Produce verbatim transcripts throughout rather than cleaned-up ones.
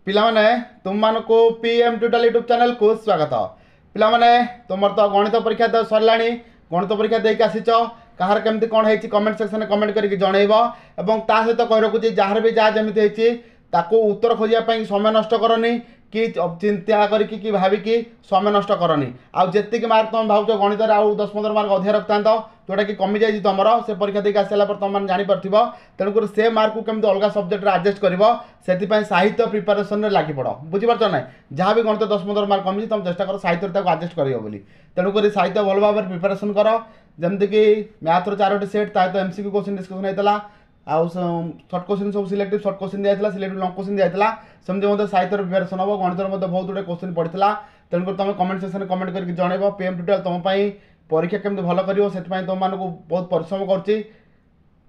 ପିଲାମାନେ ତୁମମାନଙ୍କୁ P M tutorial YouTube ଚ୍ୟାନେଲକୁ ସ୍ୱାଗତ ପିଲାମାନେ ତୁମର ତ ଗଣିତ ପରୀକ୍ଷା ତ ସରିଲାଣି ଗଣିତ ପରୀକ୍ଷା ଦେଇକି ଆସିଛ କାହାର କେମିତି କ'ଣ ହେଇଛି କମେଣ୍ଟ ସେକ୍ସନରେ କମେଣ୍ଟ କରିକି ଜଣେଇବ ଏବଂ ତା ସହିତ କହି ରଖୁଛି ଯାହାର ବି ଯାହା ଯେମିତି ହେଇଛି ତାକୁ ଉତ୍ତର ଖୋଜିବା ପାଇଁ ସମୟ ନଷ୍ଟ କରନି କି ଚିନ୍ତା କରିକି କି ଭାବିକି ସମୟ ନଷ୍ଟ କରନି ଆଉ ଯେତିକି ମାର୍କ ତୁମେ ଭାବୁଛ ଗଣିତରେ ଆଉ ଦଶ ପନ୍ଦର ମାର୍କ ଅଧିକା ରଖିଥାନ୍ତ ଯେଉଁଟାକି କମିଯାଇଛି ତୁମର ସେ ପରୀକ୍ଷା ଦେଇକି ଆସିଲା ପରେ ତୁମମାନେ ଜାଣିପାରୁଥିବ ତେଣୁକରି ସେ ମାର୍କକୁ କେମିତି ଅଲଗା ସବଜେକ୍ଟରେ ଆଡ଼ଜଷ୍ଟ କରିବ ସେଥିପାଇଁ ସାହିତ୍ୟ ପ୍ରିପାରେସନରେ ଲାଗିପଡ଼ ବୁଝିପାରୁଛ ନା ଯାହା ବି ଗଣିତ ଦଶ ପନ୍ଦର ମାର୍କ କମିଛି ତୁମେ ଚେଷ୍ଟା କର ସାହିତ୍ୟରେ ତାକୁ ଆଡ଼ଜଷ୍ଟ କରିବ ବୋଲି ତେଣୁକରି ସାହିତ୍ୟ ଭଲ ଭାବରେ ପ୍ରିପାରେସନ୍ କର ଯେମିତିକି ମ୍ୟାଥର ଚାରୋଟି ସେଟ୍ ତା ସହିତ M C Q question discussion ହେଇଥିଲା ଆଉ ସର୍ଟ କୋଶ୍ଚିନ୍ ସବୁ ସିଲେକ୍ଟିଭ୍ ସର୍ଟ କୋଶ୍ଚିନ୍ ଦିଆଯାଇଥିଲା ସିଲେକ୍ଟିଭ୍ ଲଙ୍ଗ କୋଶ୍ଚିନ୍ ଦିଆଯାଇଥିଲା ସେମିତି ମଧ୍ୟ ସାହିତ୍ୟର ପ୍ରିପାରେସନ୍ ହେବ ଗଣିତରେ ମଧ୍ୟ ବହୁତ ଗୁଡ଼ିଏ କୋଶ୍ଚିନ୍ ପଡ଼ିଥିଲା ତେଣୁକରି ତୁମେ କମେଣ୍ଟ ସେକ୍ସନରେ କମେଣ୍ଟ କରିକି ଜଣେଇବ ପି ଏମ୍ ଟ୍ୟୁଟୋରିଆଲ ତୁମ ପାଇଁ ପରୀକ୍ଷା କେମିତି ଭଲ କରିବ ସେଥିପାଇଁ ତୁମମାନଙ୍କୁ ବହୁତ ପରିଶ୍ରମ କରୁଛି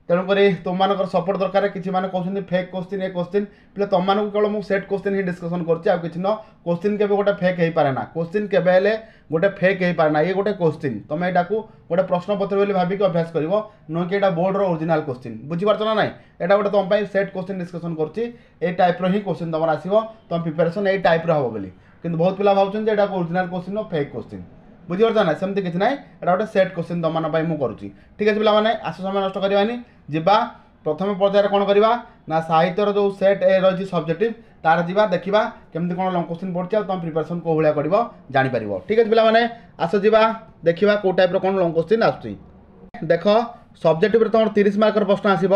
ତେଣୁକରି ତୁମମାନଙ୍କର ସପୋର୍ଟ ଦରକାର କିଛି ମାନେ କହୁଛନ୍ତି ଫେକ୍ କୋଶ୍ଚିନ୍ ଏ କୋଶ୍ଚିନ୍ ପିଲା ତୁମମାନଙ୍କୁ କେବଳ ମୁଁ ସେଟ୍ କୋଶ୍ଚିନ୍ ହିଁ ଡିସ୍କସନ୍ କରୁଛି ଆଉ କିଛି ନୁହଁ କୋଶ୍ଚିନ୍ କେବେ ଗୋଟେ ଫେକ୍ ହେଇପାରେ ନା କୋଶ୍ଚିନ୍ କେବେ ହେଲେ ଗୋଟେ ଫେକ୍ ହେଇପାରେ ନା ଇଏ ଗୋଟେ କୋଶ୍ଚିନ୍ ତୁମେ ଏଇଟାକୁ ଗୋଟେ ପ୍ରଶ୍ନପତ୍ର ବୋଲି ଭାବିକି ଅଭ୍ୟାସ କରିବ ନୁହେଁ କି ଏଇଟା ବୋର୍ଡ଼ର ଓରିଜିନାଲ୍ କୋଶ୍ଚିନ୍ ବୁଝିପାରୁଛ ନା ନାଇଁ ଏଇଟା ଗୋଟେ ତୁମ ପାଇଁ ସେଟ୍ କୋଶ୍ଚିନ୍ ଡିସ୍କସନ୍ କରୁଛି ଏଇ ଟାଇପ୍ର ହିଁ କୋଶ୍ଚିନ୍ ତୁମର ଆସିବ ତୁମ ପ୍ରିପାରେସନ୍ ଏଇ ଟାଇପ୍ର ହେବ ବୋଲି କିନ୍ତୁ ବହୁତ ପିଲା ଭାବୁଛନ୍ତି ଯେ ଏଇଟା ଓରିଜିନାଲ୍ କୋଶ୍ଚିନ୍ ଫେକ୍ କୋଶ୍ଚିନ୍ ବୁଝିପାରୁଛ ନା ସେମିତି କିଛି ନାହିଁ ଏଇଟା ଗୋଟେ ସେଟ୍ କୋଶ୍ଚିନ୍ ତୁମମାନଙ୍କ ପାଇଁ ମୁଁ କରୁଛି ଠିକ୍ ଅଛି ପିଲାମାନେ ଆସ ସମୟ ନଷ୍ଟ କରିବାନି ଯିବା ପ୍ରଥମ ପର୍ଯ୍ୟାୟରେ କ'ଣ କରିବା ନା ସାହିତ୍ୟର ଯେଉଁ ସେଟ୍ ଏ ରହିଛି ସବଜେକ୍ଟିଭ୍ ତାର ଯିବା ଦେଖିବା କେମିତି କ'ଣ ଲଙ୍ଗ କୋଶ୍ଚିନ୍ ପଡ଼ୁଛି ଆଉ ତୁମ ପ୍ରିପାରେସନ୍ କେଉଁ ଭଳିଆ କରିବ ଜାଣିପାରିବ ଠିକ୍ ଅଛି ପିଲାମାନେ ଆସ ଯିବା ଦେଖିବା କେଉଁ ଟାଇପ୍ର କ'ଣ ଲଙ୍ଗ କୋଶ୍ଚିନ୍ ଆସୁଛି ଦେଖ ସବଜେକ୍ଟିଭରେ ତୁମର ତିରିଶ ମାର୍କର ପ୍ରଶ୍ନ ଆସିବ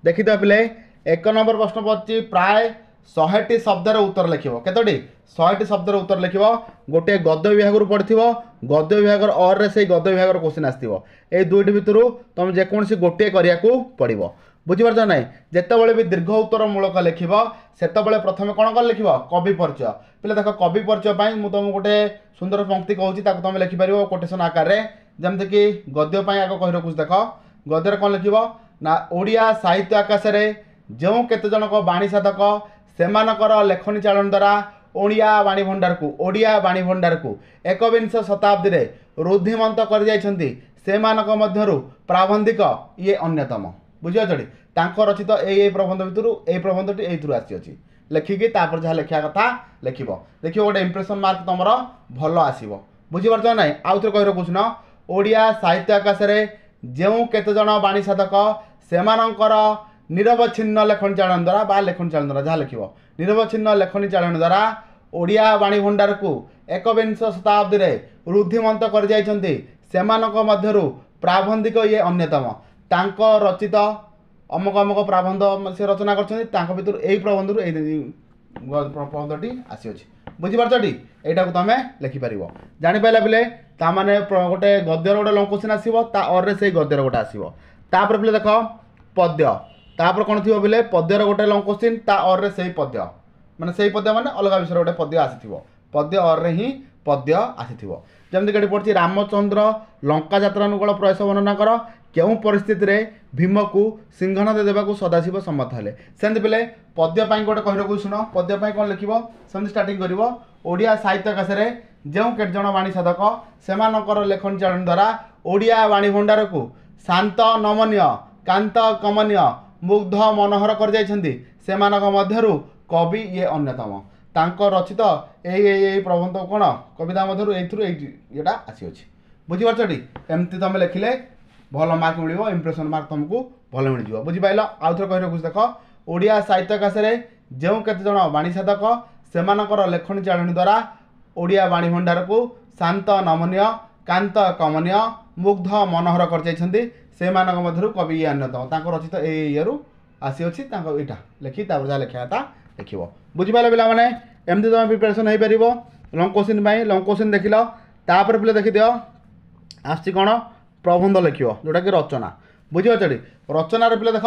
ଦେଖିଦିଅ ପିଲେ ଏକ ନମ୍ବର ପ୍ରଶ୍ନ ପଡ଼ିଛି ପ୍ରାୟ ଶହେଟି ଶବ୍ଦର ଉତ୍ତର ଲେଖିବ କେତୋଟି ଶହେଟି ଶବ୍ଦର ଉତ୍ତର ଲେଖିବ ଗୋଟିଏ ଗଦ୍ୟ ବିଭାଗରୁ ପଡ଼ିଥିବ ଗଦ୍ୟ ବିଭାଗର ଅର୍ରେ ସେଇ ଗଦ୍ୟ ବିଭାଗର କୋଶ୍ଚିନ୍ ଆସିଥିବ ଏଇ ଦୁଇଟି ଭିତରୁ ତୁମେ ଯେକୌଣସି ଗୋଟିଏ କରିବାକୁ ପଡ଼ିବ ବୁଝିପାରୁଛ ନାହିଁ ଯେତେବେଳେ ବି ଦୀର୍ଘ ଉତ୍ତର ମୂଳକ ଲେଖିବ ସେତେବେଳେ ପ୍ରଥମେ କ'ଣ କରି ଲେଖିବ କବି ପରିଚୟ ପିଲା ଦେଖ କବି ପରିଚୟ ପାଇଁ ମୁଁ ତୁମକୁ ଗୋଟେ ସୁନ୍ଦର ପଙ୍କ୍ତି କହୁଛି ତାକୁ ତୁମେ ଲେଖିପାରିବ କୋଟେସନ୍ ଆକାରରେ ଯେମିତିକି ଗଦ୍ୟ ପାଇଁ ଆଗ କହି ରଖୁଛି ଦେଖ ଗଦ୍ୟରେ କ'ଣ ଲେଖିବ ନା ଓଡ଼ିଆ ସାହିତ୍ୟ ଆକାଶରେ ଯେଉଁ କେତେଜଣକ ବାଣୀ ସାଧକ ସେମାନଙ୍କର ଲେଖନୀ ଚାଳନ ଦ୍ୱାରା ଓଡ଼ିଆ ବାଣୀ ଭଣ୍ଡାରକୁ ଓଡ଼ିଆ ବାଣୀ ଭଣ୍ଡାରକୁ ଏକବିଂଶ ଶତାବ୍ଦୀରେ ରୁଦ୍ଧିମନ୍ତ କରିଯାଇଛନ୍ତି ସେମାନଙ୍କ ମଧ୍ୟରୁ ପ୍ରାବନ୍ଧିକ ଇଏ ଅନ୍ୟତମ ବୁଝିପାରୁଛ ତାଙ୍କ ରଚିତ ଏଇ ଏଇ ପ୍ରବନ୍ଧ ଭିତରୁ ଏଇ ପ୍ରବନ୍ଧଟି ଏଇଥିରୁ ଆସିଅଛି ଲେଖିକି ତାପରେ ଯାହା ଲେଖିବା କଥା ଲେଖିବ ଦେଖିବ ଗୋଟେ ଇମ୍ପ୍ରେସନ୍ ମାର୍କ ତୁମର ଭଲ ଆସିବ ବୁଝିପାରୁଛ ନା ନାହିଁ ଆଉ ଥରେ କହି ରଖୁଛି ନା ଓଡ଼ିଆ ସାହିତ୍ୟ ଆକାଶରେ ଯେଉଁ କେତେଜଣ ବାଣୀ ସାଧକ ସେମାନଙ୍କର ନିରବଚ୍ଛିନ୍ନ ଲେଖନୀ ଚାଳନ ଦ୍ୱାରା ବା ଲେଖନୀ ଚାଳନ ଦ୍ୱାରା ଯାହା ଲେଖିବ ନିରବଚ୍ଛିନ୍ନ ଲେଖନୀ ଚାଳନ ଦ୍ୱାରା ଓଡ଼ିଆ ବାଣୀ ଭଣ୍ଡାରକୁ ଏକବିଂଶ ଶତାବ୍ଦୀରେ ରୁଦ୍ଧିମନ୍ତ କରିଯାଇଛନ୍ତି ସେମାନଙ୍କ ମଧ୍ୟରୁ ପ୍ରାବନ୍ଧିକ ଇଏ ଅନ୍ୟତମ ତାଙ୍କ ରଚିତ ଅମକ ଅମକ ପ୍ରାବନ୍ଧ ସେ ରଚନା କରିଛନ୍ତି ତାଙ୍କ ଭିତରୁ ଏଇ ପ୍ରବନ୍ଧରୁ ଏଇ ପ୍ରବନ୍ଧଟି ଆସିଅଛି ବୁଝିପାରୁଛଟି ଏଇଟାକୁ ତୁମେ ଲେଖିପାରିବ ଜାଣିପାରିଲା ପିଲେ ତାମାନେ ଗୋଟେ ଗଦ୍ୟର ଗୋଟେ ଲଙ୍ଗ କୋଶ୍ଚିନ୍ ଆସିବ ତା ଅର୍ରେ ସେଇ ଗଦ୍ୟର ଗୋଟେ ଆସିବ ତାପରେ ପିଲେ ଦେଖ ପଦ୍ୟ ତାପରେ କ'ଣ ଥିବ ପିଲେ ପଦ୍ୟର ଗୋଟେ ଲଙ୍ଗ କୋଶ୍ଚିନ୍ ତା ଅର୍ରେ ସେଇ ପଦ୍ୟ ମାନେ ସେଇ ପଦ୍ୟ ମାନେ ଅଲଗା ବିଷୟରେ ଗୋଟେ ପଦ୍ୟ ଆସିଥିବ ପଦ୍ୟ ଅର୍ରେ ହିଁ ପଦ୍ୟ ଆସିଥିବ ଯେମିତିକି ଏଠି ପଡ଼ିଛି ରାମଚନ୍ଦ୍ର ଲଙ୍କା ଯାତ୍ରାନୁକୂଳ ପ୍ରୟାସ ବର୍ଣ୍ଣନା କର କେଉଁ ପରିସ୍ଥିତିରେ ଭୀମକୁ ସିଂହନାଦ ଦେବାକୁ ସଦାଶିବ ସମ୍ମତ ହେଲେ ସେମିତି ପିଲେ ପଦ୍ୟ ପାଇଁ ଗୋଟେ କହି ରଖୁଛି ଶୁଣ ପଦ୍ୟ ପାଇଁ କ'ଣ ଲେଖିବ ସେମିତି ଷ୍ଟାର୍ଟିଂ କରିବ ଓଡ଼ିଆ ସାହିତ୍ୟ ଆକାଶରେ ଯେଉଁ କେତେଜଣ ବାଣୀ ସାଧକ ସେମାନଙ୍କର ଲେଖନୀ ଚାଳନ ଦ୍ୱାରା ଓଡ଼ିଆ ବାଣୀ ଭଣ୍ଡାରକୁ ଶାନ୍ତ ନମନୀୟ କାନ୍ତ କମନୀୟ ମୁଗ୍ଧ ମନୋହର କରିଯାଇଛନ୍ତି ସେମାନଙ୍କ ମଧ୍ୟରୁ କବି ଇଏ ଅନ୍ୟତମ ତାଙ୍କ ରଚିତ ଏଇ ଏଇ ଏଇ ପ୍ରବନ୍ଧ କ'ଣ କବିତା ମଧ୍ୟରୁ ଏଇଥିରୁ ଏଇ ଇଏଟା ଆସିଅଛି ବୁଝିପାରୁଛଟି ଏମିତି ତୁମେ ଲେଖିଲେ ଭଲ ମାର୍କ ମିଳିବ ଇମ୍ପ୍ରେସନ୍ ମାର୍କ ତୁମକୁ ଭଲ ମିଳିଯିବ ବୁଝିପାରିଲ ଆଉ ଥରେ କହି ରଖୁଛି ଦେଖ ଓଡ଼ିଆ ସାହିତ୍ୟ ଆକାଶରେ ଯେଉଁ କେତେଜଣ ବାଣୀ ସାଧକ ସେମାନଙ୍କର ଲେଖନୀ ଚାଳଣୀ ଦ୍ୱାରା ଓଡ଼ିଆ ବାଣୀ ଭଣ୍ଡାରକୁ ଶାନ୍ତ ନମନୀୟ କାନ୍ତ କମନୀୟ ମୁଗ୍ଧ ମନୋହର କରିଯାଇଛନ୍ତି ସେମାନଙ୍କ ମଧ୍ୟରୁ କବି ଇଏ ଅନ୍ୟତମ ତାଙ୍କ ରଚିତ ଏଇ ଇଏରୁ ଆସିଅଛି ତାଙ୍କ ଏଇଟା ଲେଖି ତାପରେ ଯାହା ଲେଖିବା କଥା ଲେଖିବ ବୁଝିପାରିଲ ପିଲାମାନେ ଏମିତି ତୁମେ ପ୍ରିପାରେସନ୍ ହେଇପାରିବ ଲଙ୍ଗ କୋଶ୍ଚିନ୍ ପାଇଁ ଲଙ୍ଗ କୋଶ୍ଚିନ୍ ଦେଖିଲ ତାପରେ ପିଲା ଦେଖିଦିଅ ଆସୁଛି କ'ଣ ପ୍ରବନ୍ଧ ଲେଖିବ ଯେଉଁଟାକି ରଚନା ବୁଝିପାରୁଛଟି ରଚନାରେ ପିଲା ଦେଖ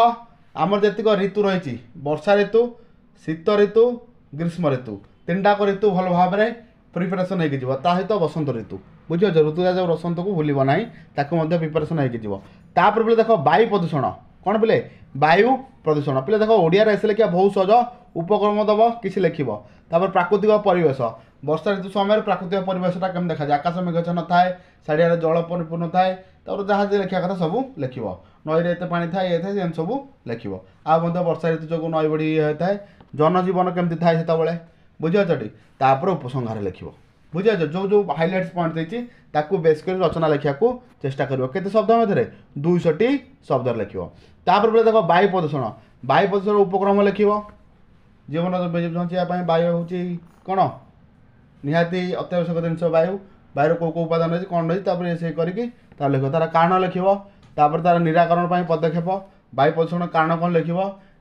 ଆମର ଯେତିକ ଋତୁ ରହିଛି ବର୍ଷା ଋତୁ ଶୀତ ଋତୁ ଗ୍ରୀଷ୍ମ ଋତୁ ତିନିଟାକ ଋତୁ ଭଲ ଭାବରେ ପ୍ରିପାରେସନ୍ ହେଇକି ଯିବ ତା ସହିତ ବସନ୍ତ ଋତୁ ବୁଝିପାରୁଛ ଋତୁରାଜ ବସନ୍ତକୁ ଭୁଲିବ ନାହିଁ ତାକୁ ମଧ୍ୟ ପ୍ରିପାରେସନ୍ ହେଇକି ଯିବ ତାପରେ ପିଲେ ଦେଖ ବାୟୁ ପ୍ରଦୂଷଣ କ'ଣ ପିଲେ ବାୟୁ ପ୍ରଦୂଷଣ ପିଲେ ଦେଖ ଓଡ଼ିଆରେ ଏସେ ଲେଖିବା ବହୁତ ସହଜ ଉପକ୍ରମ ଦେବ କିଛି ଲେଖିବ ତାପରେ ପ୍ରାକୃତିକ ପରିବେଶ ବର୍ଷା ଋତୁ ସମୟରେ ପ୍ରାକୃତିକ ପରିବେଶଟା କେମିତି ଦେଖାଯାଏ ଆକାଶ ମେଘାଚ୍ଛନ୍ନ ଥାଏ ଚାରିଆଡ଼େ ଜଳ ପରିପୂର୍ଣ୍ଣ ଥାଏ ତାପରେ ଯାହା ଯେ ଲେଖିବା କଥା ସବୁ ଲେଖିବ ନଈରେ ଏତେ ପାଣି ଥାଏ ଇଏ ଥାଏ ସେମିତି ସବୁ ଲେଖିବ ଆଉ ମଧ୍ୟ ବର୍ଷା ଋତୁ ଯୋଗୁଁ ନଈ ବଢ଼ି ଇଏ ହୋଇଥାଏ ଜନଜୀବନ କେମିତି ଥାଏ ସେତେବେଳେ ବୁଝିପାରୁଛ ଟି ତାପରେ ଉପସଂହାର ଲେଖିବ ବୁଝିପାରୁଛ ଯେଉଁ ଯେଉଁ ହାଇଲାଇଟ୍ସ ପଏଣ୍ଟ ଦେଇଛି ତାକୁ ବେସ୍ କରି ରଚନା ଲେଖିବାକୁ ଚେଷ୍ଟା କରିବ କେତେ ଶବ୍ଦ ମଧ୍ୟରେ ଦୁଇଶହଟି ଶବ୍ଦରେ ଲେଖିବ ତାପରେ ପିଲା ଦେଖ ବାୟୁ ପ୍ରଦୂଷଣ ବାୟୁ ପ୍ରଦୂଷଣ ଉପକ୍ରମ ଲେଖିବ ଜୀବନ ବଞ୍ଚିବା ପାଇଁ ବାୟୁ ହେଉଛି କ'ଣ ନିହାତି ଅତ୍ୟାବଶ୍ୟକ ଜିନିଷ ବାୟୁ ବାୟୁର କେଉଁ କେଉଁ ଉପାଦାନ ରହିଛି କ'ଣ ରହିଛି ତାପରେ ସେ କରିକି ତାର ଲେଖିବ ତାର କାରଣ ଲେଖିବ ତାପରେ ତାର ନିରାକରଣ ପାଇଁ ପଦକ୍ଷେପ ବାୟୁ ପ୍ରଦୂଷଣ କାରଣ କ'ଣ ଲେଖିବ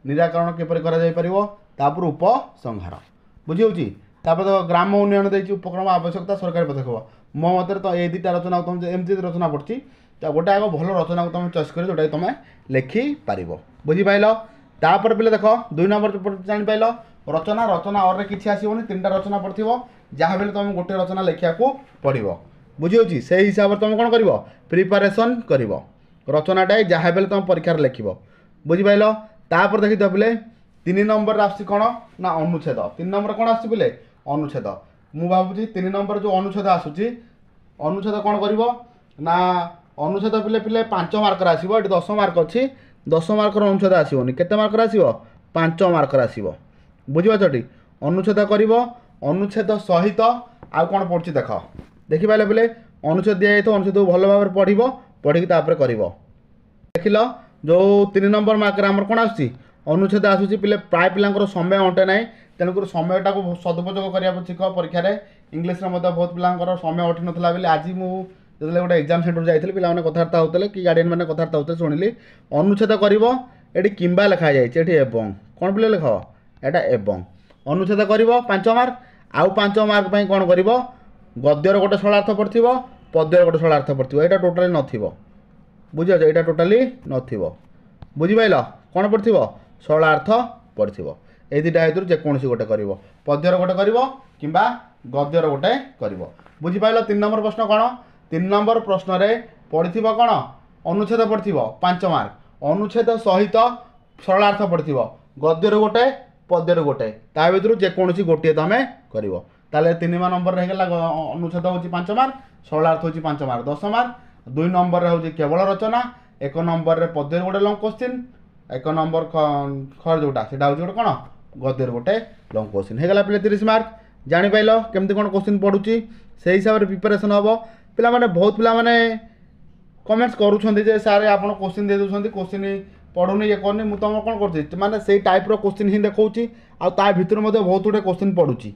ନିରାକରଣ କିପରି କରାଯାଇପାରିବ ତାପରେ ଉପସଂହାର ବୁଝି ହେଉଛି ତାପରେ ତ ଗ୍ରାମ ଉନ୍ନୟନ ଦେଇଛି ଉପକ୍ରମ ଆବଶ୍ୟକତା ସରକାରୀ ପଦକ୍ଷେପ ମୋ ମତରେ ତ ଏଇ ଦୁଇଟା ରଚନା ତୁମେ ଏମିତି ରଚନା ପଡ଼ୁଛି ତ ଗୋଟେ ଆଗ ଭଲ ରଚନାକୁ ତୁମେ ଚଏସ୍ କରି ଯେଉଁଟାକି ତୁମେ ଲେଖିପାରିବ ବୁଝିପାରିଲ ତାପରେ ପିଲା ଦେଖ ଦୁଇ ନମ୍ବର ଜାଣିପାରିଲ ରଚନା ରଚନା ଅରରେ କିଛି ଆସିବନି ତିନିଟା ରଚନା ପଡ଼ିଥିବ ଯାହା ବି ହେଲେ ତୁମେ ଗୋଟେ ରଚନା ଲେଖିବାକୁ ପଡ଼ିବ ବୁଝିହେଉଛି ସେଇ ହିସାବରେ ତୁମେ କ'ଣ କରିବ ପ୍ରିପାରେସନ୍ କରିବ ରଚନାଟା ଯାହା ବି ହେଲେ ତୁମେ ପରୀକ୍ଷାରେ ଲେଖିବ ବୁଝିପାରିଲ ତାପରେ ଦେଖିଥିବ ପିଲେ ତିନି ନମ୍ବରରେ ଆସୁଛି କ'ଣ ନା ଅନୁଚ୍ଛେଦ ତିନି ନମ୍ବର କ'ଣ ଆସୁଛି ପିଲେ ଅନୁଚ୍ଛେଦ ମୁଁ ଭାବୁଛି ତିନି ନମ୍ବର ଯେଉଁ ଅନୁଚ୍ଛେଦ ଆସୁଛି ଅନୁଚ୍ଛେଦ କ'ଣ କରିବ ନା ଅନୁଚ୍ଛେଦ ପିଲେ ପିଲେ ପାଞ୍ଚ ମାର୍କର ଆସିବ ଏଠି ଦଶ ମାର୍କ ଅଛି ଦଶ ମାର୍କର ଅନୁଚ୍ଛେଦ ଆସିବନି କେତେ ମାର୍କର ଆସିବ ପାଞ୍ଚ ମାର୍କର ଆସିବ ବୁଝିପାରୁଛଟି ଅନୁଚ୍ଛେଦ କରିବ ଅନୁଚ୍ଛେଦ ସହିତ ଆଉ କ'ଣ ପଡ଼ୁଛି ଦେଖ ଦେଖିପାରିଲେ ପିଲେ ଅନୁଚ୍ଛେଦ ଦିଆଯାଇଥିବ ଅନୁଚ୍ଛେଦକୁ ଭଲ ଭାବରେ ପଢ଼ିବ ପଢ଼ିକି ତାପରେ କରିବ ଦେଖିଲ ଯେଉଁ ତିନି ନମ୍ବର ମାର୍କରେ ଆମର କ'ଣ ଆସୁଛି ଅନୁଚ୍ଛେଦ ଆସୁଛି ପିଲେ ପ୍ରାୟ ପିଲାଙ୍କର ସମୟ ଅଣ୍ଟେ ନାହିଁ ତେଣୁକରି ସମୟଟାକୁ ସଦୁପଯୋଗ କରିବାକୁ ଶିଖ ପରୀକ୍ଷାରେ ଇଂଲିଶରେ ମଧ୍ୟ ବହୁତ ପିଲାଙ୍କର ସମୟ ଅଣ୍ଟି ନଥିଲା ବୋଲି ଆଜି ମୁଁ ଯେତେବେଳେ ଗୋଟେ ଏକ୍ଜାମ୍ ସେଣ୍ଟର ଯାଇଥିଲି ପିଲାମାନେ କଥାବାର୍ତ୍ତା ହେଉଥିଲେ କି ଗାର୍ଡ଼ିଆନ୍ ମାନେ କଥାବାର୍ତ୍ତା ହେଉଥିଲେ ଶୁଣିଲି ଅନୁଚ୍ଛେଦ କରିବ ଏଠି କିମ୍ବା ଲେଖାଯାଇଛି ଏଠି ଏବଂ କ'ଣ ପିଲା ଲେଖ ଏଇଟା ଏବଂ ଅନୁଚ୍ଛେଦ କରିବ ପାଞ୍ଚ ମାର୍କ ଆଉ ପାଞ୍ଚ ମାର୍କ ପାଇଁ କ'ଣ କରିବ ଗଦ୍ୟର ଗୋଟେ ସରଳାର୍ଥ ପଡ଼ିଥିବ ପଦ୍ୟର ଗୋଟେ ସରଳାର୍ଥ ପଡ଼ିଥିବ ଏଇଟା ଟୋଟାଲି ନଥିବ ବୁଝିପାରୁଛ ଏଇଟା ଟୋଟାଲି ନଥିବ ବୁଝିପାରିଲ କ'ଣ ପଡ଼ିଥିବ ସରଳାର୍ଥ ପଡ଼ିଥିବ ଏଇ ଦୁଇଟା ଭିତରୁ ଯେକୌଣସି ଗୋଟେ କରିବ ପଦ୍ୟର ଗୋଟେ କରିବ କିମ୍ବା ଗଦ୍ୟର ଗୋଟେ କରିବ ବୁଝିପାରିଲ ତିନି ନମ୍ବର ପ୍ରଶ୍ନ କ'ଣ ତିନି ନମ୍ବର ପ୍ରଶ୍ନରେ ପଡ଼ିଥିବ କ'ଣ ଅନୁଚ୍ଛେଦ ପଡ଼ିଥିବ ପାଞ୍ଚ ମାର୍କ ଅନୁଚ୍ଛେଦ ସହିତ ସରଳାର୍ଥ ପଡ଼ିଥିବ ଗଦ୍ୟରୁ ଗୋଟେ ପଦ୍ୟରୁ ଗୋଟେ ତା ଭିତରୁ ଯେକୌଣସି ଗୋଟିଏ ତୁମେ କରିବ ତାହେଲେ ତିନି ନମ୍ବରରେ ହେଇଗଲା ଅନୁଚ୍ଛେଦ ହେଉଛି ପାଞ୍ଚ ମାର୍କ ସରଳାର୍ଥ ହେଉଛି ପାଞ୍ଚ ମାର୍କ ଦଶ ମାର୍କ ଦୁଇ ନମ୍ବରରେ ହେଉଛି କେବଳ ରଚନା ଏକ ନମ୍ବରରେ ପଦ୍ୟରୁ ଗୋଟେ ଲଙ୍ଗ କୋଶ୍ଚିନ୍ ଏକ ନମ୍ବର ଖର ଯେଉଁଟା ସେଇଟା ହେଉଛି ଗୋଟେ କ'ଣ ଗଦ୍ୟରୁ ଗୋଟେ ଲଙ୍ଗ କୋଶ୍ଚିନ୍ ହେଇଗଲା ପିଲେ ତିରିଶ ମାର୍କ ଜାଣିପାରିଲ କେମିତି କ'ଣ କୋଶ୍ଚିନ୍ ପଡ଼ୁଛି ସେଇ ହିସାବରେ ପ୍ରିପାରେସନ୍ ହେବ ପିଲାମାନେ ବହୁତ ପିଲାମାନେ କମେଣ୍ଟସ୍ କରୁଛନ୍ତି ଯେ ସାର୍ ଆପଣ କୋଶ୍ଚିନ୍ ଦେଇ ଦେଉଛନ୍ତି କୋଶ୍ଚିନ୍ ପଢ଼ୁନି ଇଏ କରୁନି ମୁଁ ତୁମର କ'ଣ କରୁଛି ମାନେ ସେଇ ଟାଇପ୍ର କୋଶ୍ଚିନ୍ ହିଁ ଦେଖାଉଛି ଆଉ ତା ଭିତରୁ ମଧ୍ୟ ବହୁତ ଗୁଡ଼ିଏ କୋଶ୍ଚିନ୍ ପଡ଼ୁଛି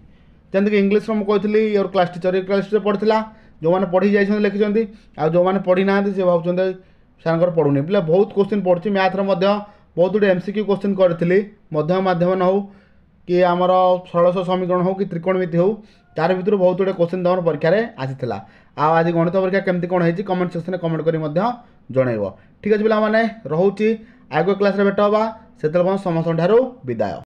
ଯେମିତିକି ଇଂଲିଶର ମୁଁ କହିଥିଲି your class teacher your class teacher ପଢ଼ିଥିଲା ଯେଉଁମାନେ ପଢ଼ି ଯାଇଛନ୍ତି ଲେଖିଛନ୍ତି ଆଉ ଯେଉଁମାନେ ପଢ଼ି ନାହାନ୍ତି ସେ ଭାବୁଛନ୍ତି ସାର୍ଙ୍କର ପଢ଼ୁନି ପିଲା ବହୁତ କୋଶ୍ଚିନ୍ ପଡ଼ୁଛି ମ୍ୟାଥ୍ର ମଧ୍ୟ ବହୁତ ଗୁଡ଼ିଏ ଏମ୍ ସି କ୍ୟୁ କୋଶ୍ଚିନ୍ କରିଥିଲି ମଧ୍ୟ ମାଧ୍ୟମ ନ ହେଉ କି ଆମର ଷୋଳଶ ସମୀକରଣ ହେଉ କି ତ୍ରିକୋଣମିତି ହେଉ ତାର ଭିତରୁ ବହୁତ ଗୁଡ଼ିଏ କୋଶ୍ଚିନ୍ ତୁମର ପରୀକ୍ଷାରେ ଆସିଥିଲା ଆଉ ଆଜି ଗଣିତ ପରୀକ୍ଷା କେମିତି କ'ଣ ହେଇଛି କମେଣ୍ଟ ସେକ୍ସନରେ କମେଣ୍ଟ କରି ମଧ୍ୟ ଜଣାଇବ ଠିକ୍ ଅଛି ପିଲାମାନେ ରହୁଛି ଆଗ କ୍ଲାସ୍ରେ ଭେଟ ହେବା ସେତେବେଳେ ସମସ୍ତଙ୍କ ଠାରୁ ବିଦାୟ।